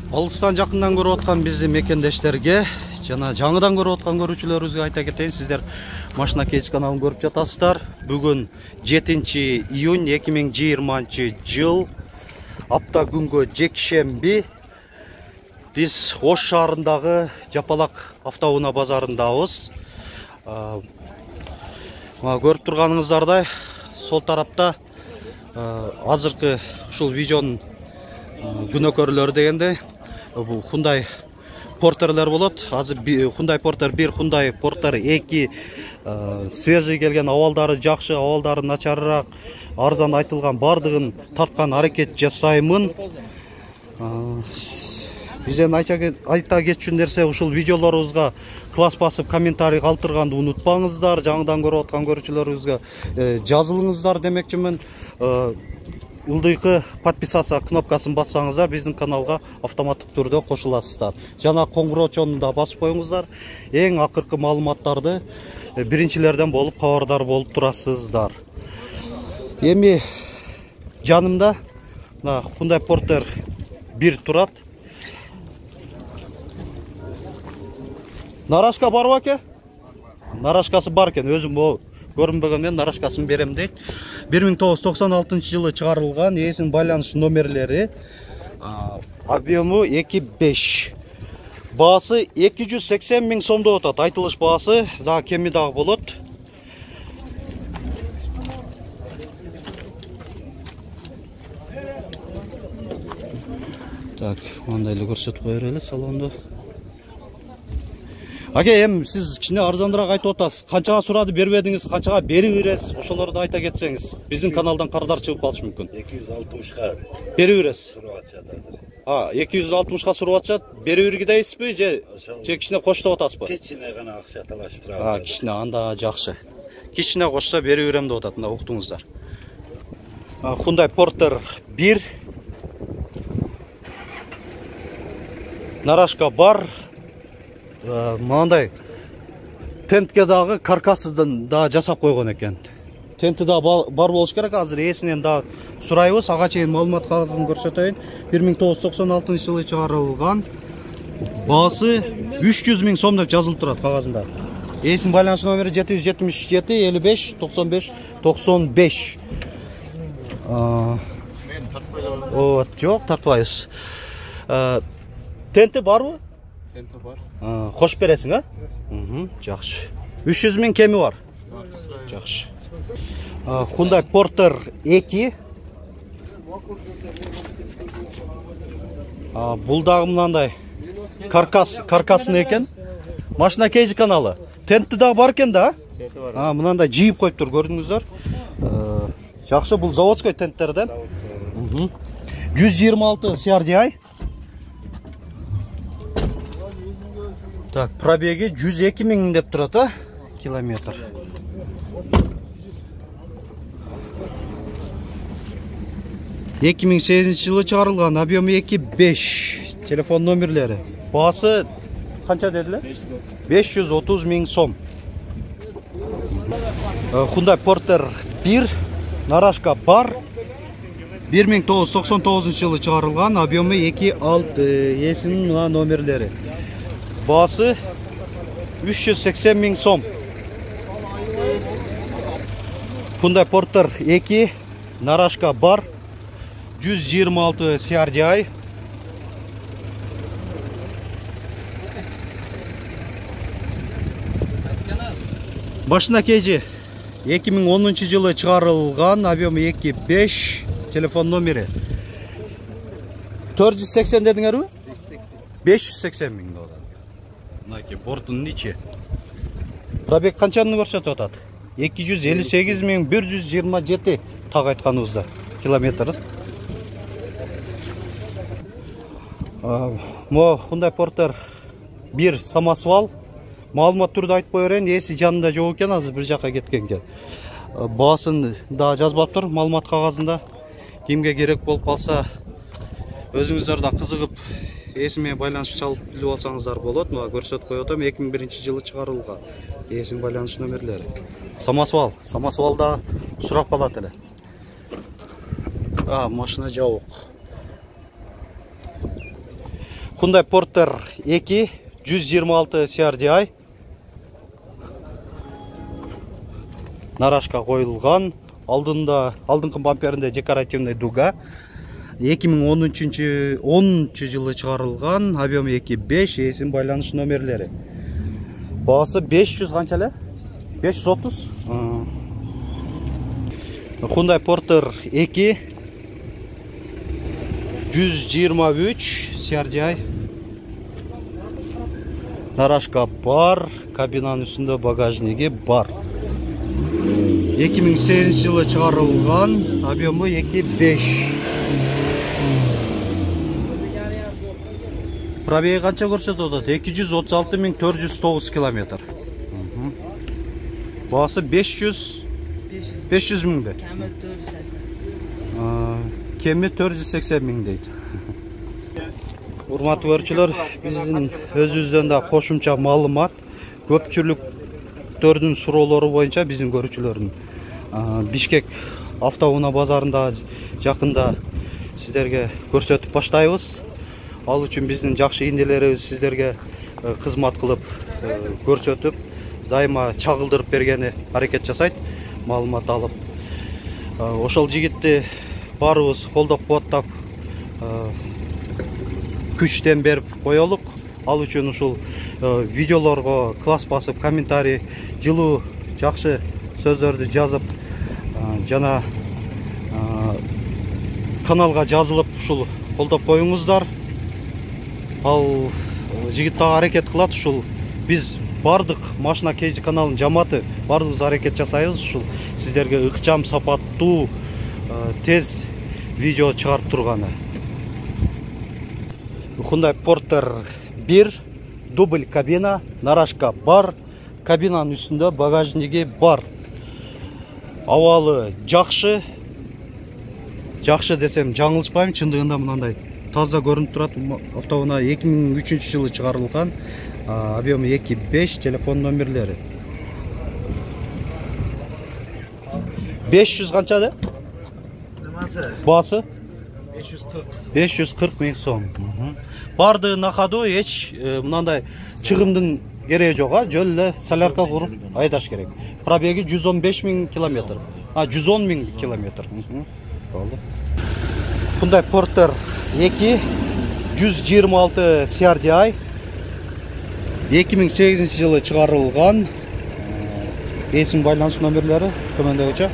Алыстан жакындан көрүп аткан биздин мекендештерге жана жаңыдан көрүп аткан көрүүчүлөрүбүзгө айта кетейин, сиздер Машина Кейж каналын көрүп жатасыздар. Бүгүн 7 июнь 2020 жыл, апта күнгө жекшемби. Биз Ош шаарындагы Жапалак автоунаа базарындабыз. Көрүп турганыңыздардай, сол тарапта азыркы ушул видеонун күнөкөрлөрү дегенде бул Hyundai Porter'лер болот. Азыр Hyundai Porter 1, Hyundai Porter 2 свежий келген, абалдары жакшы, абалдары начарыраак, арзан айтылган бардыгын тарткан аракет жасаймын. Бизден айта кетчү нерсе, ушул видеолорубузга класс басып комментарий калтырганды унутпаңыздар. Жаңыдан көрүп аткан көрүүчүлөрүбүзгө жазылыңыздар демекчимин. Ылдыйкы подписация кнопкасын бассаңыздар, биздин каналга автоматтык түрдө кошуласыздар. Жана коңгуроочону да басып коюңуздар. Эң акыркы маалыматтарды биринчилерден болуп кабардар болуп турасыздар. Эми жанымда Hyundai Porter 1 турат. Нарашка барбы аке? Нарашкасы бар экен. Өзүм көрүнбөгөндөн нарашкасын берем дейт. 1996 жылы чыгарылган, ээсинин байланыш номерлери, объему 2.5. Баасы 280 000 сом деп атат. Айтылыш баасы да кеми дагы болот. Так, мындай эле көрсөтүп кое берели салонду. Аке, сиз кичине арзандыраак айтып атасыз. Канчага сурады бербедиңиз, канчага берип бересиз? Ошолорду айта кетсеңиз. Биздин каналдан кардар чыгып калышы мүмкүн. 260га берип бересиз. сурап атышат. 260га сурап атышат. Берип бергидейсизби же кичине коштоп атасызбы? Кичине гана акча талашып турат. Кичине анда жакшы. Кичине кошсо берип берем деп атат, мына уктуңуздар. Hyundai Porter 1. Нарашка бар. Мындай тентке дагы каркасыдан да жасап койгон экен. Тенти да бар болуш керек. Азыр ээсинен да сурайбыз. Ага чейин маалымат кагазын көрсөтөйүн. 1996 жылы чыгарылган. Баасы 300 000 сом деп жазылып турат кагазында. Ээсинин байланыш номери 777 55 95 95. Жок, тартпайбыз. Тенти барбы? Тенти бар. Кош бересиң, жакшы. 300 000 кеми бар. Жакшы. Hyundai Porter 2. Бул дагы мындай каркасын экен. Машина Кейж каналы. Тенти дагы бар экен да? Тенти бар. Мындай жийип коюптур, көрдүңүздөр. Жакшы, бул заводской тенттерден. 126 CRDI. Так, пробеги 102 000 деп турат, километр. — 2008 жылы чыгарылган, объему 2.5. Телефон номерлери. Баасы канча дедилер? 530 000 сом. Hyundai Porter 1, нарашка бар. 1999 жылы чыгарылган, объему 2.6. Ээсинин номерлери. Баасы 380 000 сом. Hyundai Porter 2, нарашка бар. 126 CRDI. Машина Кейж 2010 жылы чыгарылган, объему 2.5. Телефон номери 480 дедиңерби? 580 000 доллар. Мынакей бортунун ичи. Пробег канчаны көрсөтүп атат? 258 127 так айтканыбызда километр. Мо Hyundai Porter 1 самосвал. Маалымат түрдө айтып кое берейин, ээси жанында жок экен, азыр бир жака кеткен экен. Баасын да жазбаптыр маалымат кагазында. Кимге керек болуп калса, өзүңүздөр да кызыгып ээси менен байланыш чалып билип алсаңыздар болот. Мына көрсөтүп коюп атам, 2001 жылы чыгарылган. Ээсинин байланыш номерлери. Самосвалда сурап калат эле. Машина жабык. Hyundai Porter 2 126 CRDI. Нарашка коюлган. Алдыңкы бамперинде декоративный дуга. 2010 жылы чыгарылган. Объемы 2.5, эсин байланыш номерлери. Баасы 500 канча эле? 530. Hyundai Porter 2 123 CRDI. Нарашка бар, кабинанын үстүндө багажниги бар. 2008 жылы чыгарылган, объемы 2.5. Пробеги канча көрсөтүп атат? 236.409 километр. Баасы 500 миңбе? Кеми 480 миң дейт. Урматтуу көрүүчүлөр, биздин өзүбүздөн да кошумча маалымат, көпчүлүктөрдүн суроолору боюнча биздин көрүүчүлөрдүн Бишкек автоунаа базарында жакында сиздерге көрсөтүп баштайбыз. Ал үчүн биздин жакшы индилерибиз сиздерге кызмат кылып көрсөтүп, дайыма чагылдырып бергени аракет жасайт, маалымат алып. Ошол жигитти баарыбыз колдоп кубаттап, күчтен берип коелук. Ал үчүн ушул видеолорго класс басып, комментарий, жылуу, жакшы сөздөрдү жазып, жана каналга жазылып ушул колдоп коюңуздар. Ал жигит дагы аракет кылат, ушул биз бардык машина кейзи каналынын жамааты бардыгыбыз аракет жасайбыз, ушул сиздерге ыкчам, сапаттуу, тез видео чыгарып турганы. Hyundai Porter 1 дубль кабина, нарашка бар, кабинанын үстүндө багажниги бар. Абалы жакшы. Жакшы десем жаңылышпайм, чындыгында мындай таза көрүнүп турат. Автоунаа 2003 жылы чыгарылган, объемы 2.5, телефон номерлери. 500 канча де? Баасы? 540 миң сом. Барды на ходу эч мындай чыгымдын кереги жок, жөн эле солярка куруп айдаш керек. Пробеги 115 миң километр. 110 миң километр. Болду. Hyundai Porter 2 126 CRDI 2008 жылы чыгарылган. Эсин байланыш номерлери төмөндөгүчө.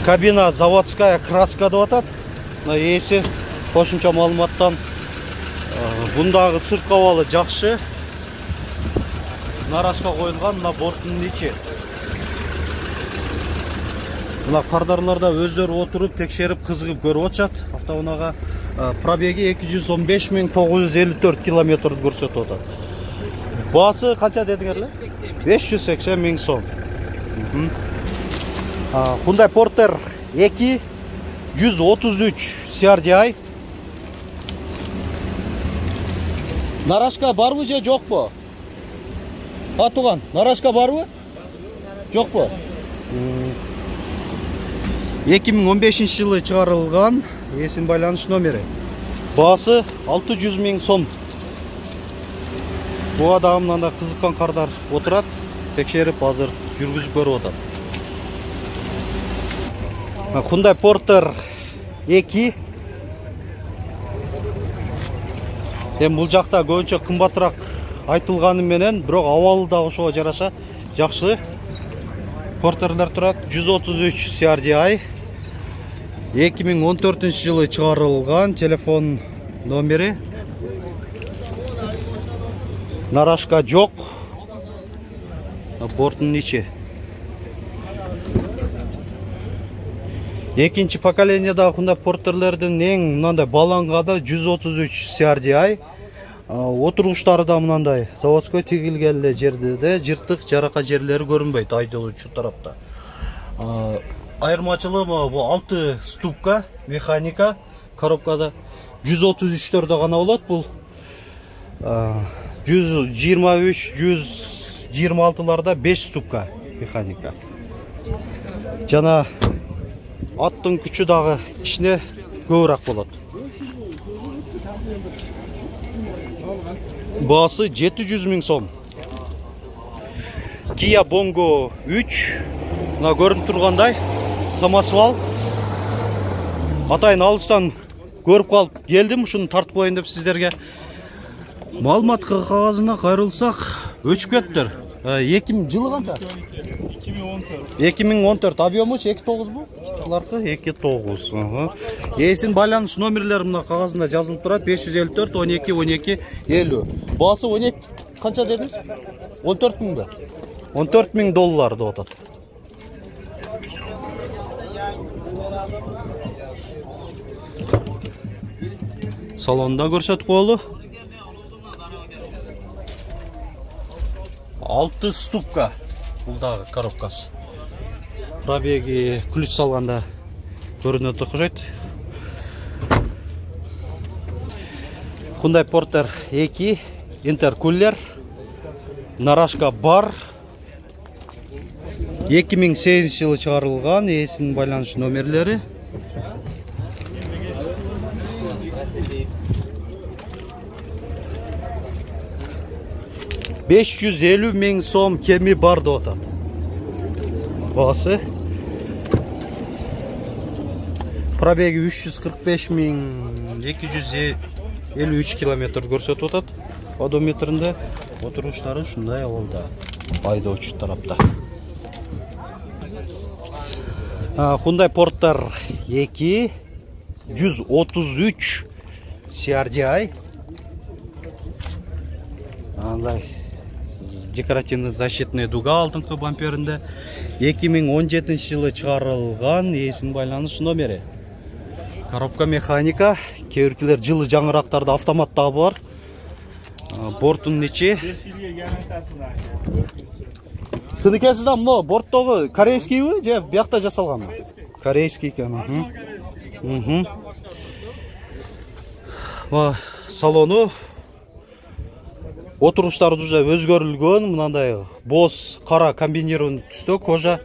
Кабина заводская краска деп атат. Эси кошумча маалыматтан бундагы сырткы абалы жакшы. Нарашка коюлган, мына борттун ичи. Мына кардарларда өздөрү отуруп, текшерип, кызыгып көрүп атышат. Автоунаага пробеги 215.954 километр көрсөтүп атат. Баасы канча дедиңер эле? 580 миң сом. Hyundai Porter 2 133 CRDI. Нарашка барбы же жокпу? Туган, нарашка барбы? Жокпу? 2015 жылы чыгарылган, эсин байланыш номери. Баасы 600 миң сом. Буга дагы мындай кызыккан кардар отурат, текшерип азыр жүргүзүп көрүп атат. Hyundai Porter 2. Бул жакта көбүнчө кымбатыраак айтылганы менен, бирок абалы да ошого жараша жакшы. Porterler турат 133 CRDI. 2014 жылы чыгарылган, телефон номери. Нарашка жок. Борттун ичи. Экинчи поколениядагы Hyundai Porterlerдин эң мындай баланганы 133 CRDI. Отургучтары да мындай заводской тигилген эле жерде, жыртык, жарака жерлери көрүнбөйт айдоочу тарапта. Айырмачылыгы бу 6 ступка механика, коробкада 133төрдө гана болот. Бул 123, 126ларда 5 ступка механика. Жана аттын күчү дагы кичине көбүрөөк болот. Баасы 700 000 сом. Kia Bongo 3. Мына көрүнүп тургандай самосвал. Атайын алыстан көрүп калып келдим, ушуну тартып коеюн деп сиздерге. Маалымат кагазына кайрылсак, өчүп кеттир. 2000 жылы канча? 2014. Объемучу 2.9 бу? Буларкы 2.9. Эсин байланыш номерлери мына кагазында жазылып турат. 554 12 12 50. Баасы 12 канча дедиңиз? 14 000 да. 14 000 доллар деп атат. Салонда көрсөтүп коелу. 6 ступка. Бул дагы коробкасы. Пробеги ключ салганда көрүнөт окшойт. Hyundai Porter 2 интеркулер. Нарашка бар. 2008 жылы чыгарылган, эсин байланыш номерлери. $550 000 сом кеми бар деп атат. Баасы. Пробеги 345 253 километр көрсөтүп атат. Одометринде отуруштары ушундай абалда. Айдоочу тарапта. Hyundai Porter 2 133 CRDI. Андай декоративный защитный дуга алдыңкы бамперинде 2017 жылы чыгарылган, эсин байланыш номери. Коробка механика, кээ-биркилер жылы жаңырактарда автомат дагы бар. Бортунун ичи. 5 жылга гарантиясы. Тыныкеси да мына борттогу корейскийби же биякта жасалганбы? Корейский экен. Салону отуруштары уже өзгөрүлгөн, мындай боз кара комбинированный түстө, кожа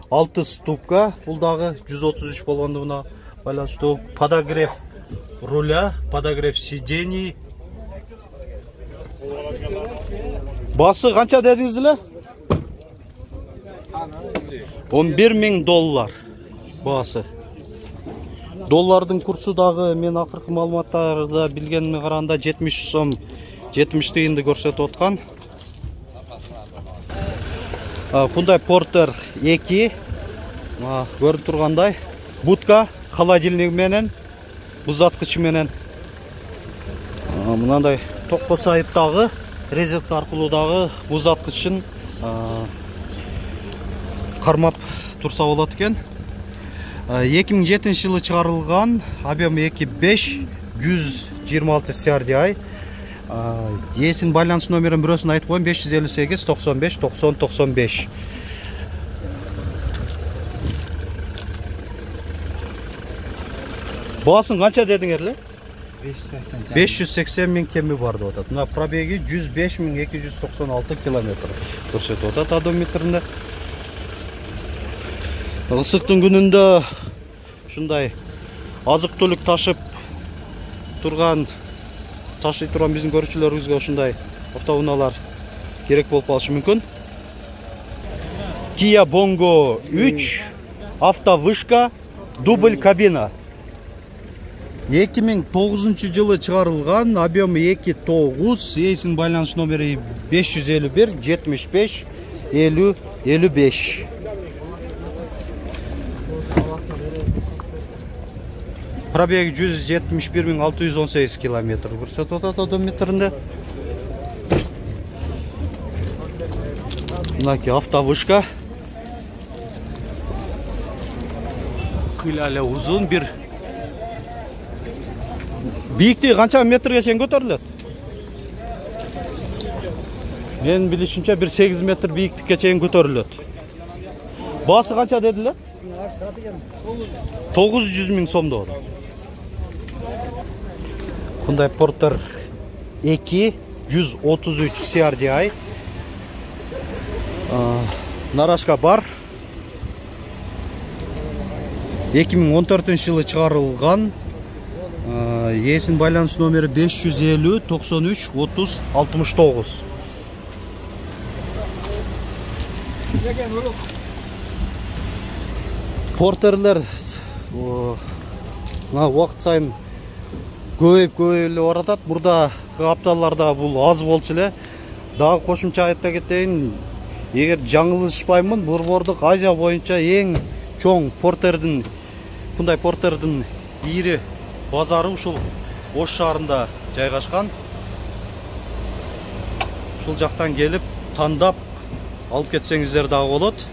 6 ступка, бул дагы 133 болгондугуна байланыштуу. Подогрев руля, подогрев сидений. Басы канча дедиңиз эле? 11 000 доллар баасы. Доллардын курсу дагы мен акыркы маалыматтарды билгениме караганда 70 сом 70 тыйынды көрсөтүп аткан. Hyundai Porter 2 көрүнүп тургандай будка, холодильник менен, бузаткычы менен. Мындай токко сайыптагы резетка аркылуу дагы бузаткычын кармап турса болот экен. 2007 жылы чыгарылган, объем 2.5 126 CRDI. Эсин байланыш номерин бирөөсүн айтып коеюн: 558 95 90 95. Баасын канча дедиңер эле? 580 000 кеми бар деп атат. Мына пробеги 105 296 километр көрсөтүп атат одометринде. Ысыктын күнүндө ушундай азык-түлүк ташый турган биздин көрүүчүлөрүбүзгө ушундай автоунаалар керек болуп калышы мүмкүн. Kia Bongo 3 автовышка, дубль кабина. 2009 жылы чыгарылган, объему 2.9, эсин байланыш номери 551 75 50 55. Пробег 171 618 километр көрсөтүп атат одометринде. Мынаки автовышка. Кыйлале узун бир. Бийиктиги канча метрге чейин көтөрүлөт? Мен билишимче 8 метр бийиктикке чейин көтөрүлөт. Баасы канча дедилер? 900 000 сом деп атат. Hyundai Porter 2 133 CRDI. Нарашка бар. 2014 жылы чыгарылган. Ээсинин байланыш номери 550 93 30 69. Портерлер убакыт сайын көбөйүп эле баратат. Мурдагы апталарда бул аз болчу эле. Дагы кошумча айта кетейин, эгер жаңылышпаймын, Борбордук Азия боюнча эң чоң портердин, мындай портердин ири базары ушул Ош шаарында жайгашкан. Ушул жактан келип тандап алып кетсеңиздер дагы болот.